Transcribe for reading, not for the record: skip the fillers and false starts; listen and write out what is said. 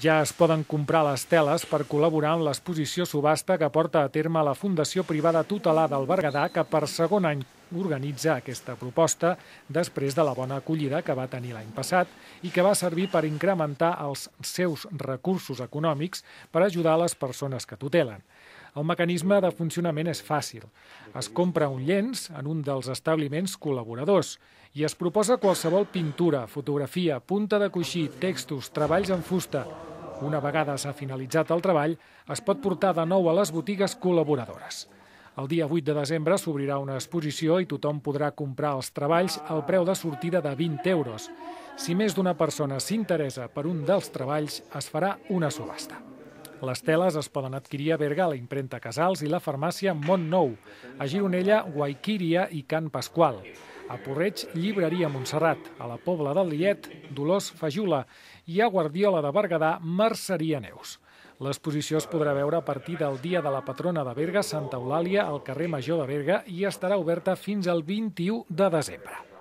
Ja es poden comprar les teles per col·laborar en l'exposició subhasta que porta a terme la Fundació Privada Tutelar del Berguedà, que per segon any organitza aquesta proposta després de la bona acollida que va tenir l'any passat i que va servir per incrementar els seus recursos econòmics per ajudar les persones que tutelen. El mecanisme de funcionament és fàcil. Es compra un llenç en un dels establiments col·laboradors i es proposa qualsevol pintura, fotografia, punta de coixí, textos, treballs en fusta. Una vegada s'ha finalitzat el treball, es pot portar de nou a les botigues col·laboradores. El dia 8 de desembre s'obrirà una exposició i tothom podrà comprar els treballs al preu de sortida de 20 euros. Si més d'una persona s'interessa per un dels treballs, es farà una subhasta. Les teles es poden adquirir a Berga, a la impremta Casals i la farmàcia Montnou, a Gironella, Guaiquíria i Can Pasqual, a Porreig, Llibreria Montserrat, a la Pobla del Lillet, Dolors Fajula i a Guardiola de Berguedà, Merceria Neus. L'exposició es podrà veure a partir del dia de la patrona de Berga, Santa Eulàlia, al carrer Major de Berga, i estarà oberta fins al 21 de desembre.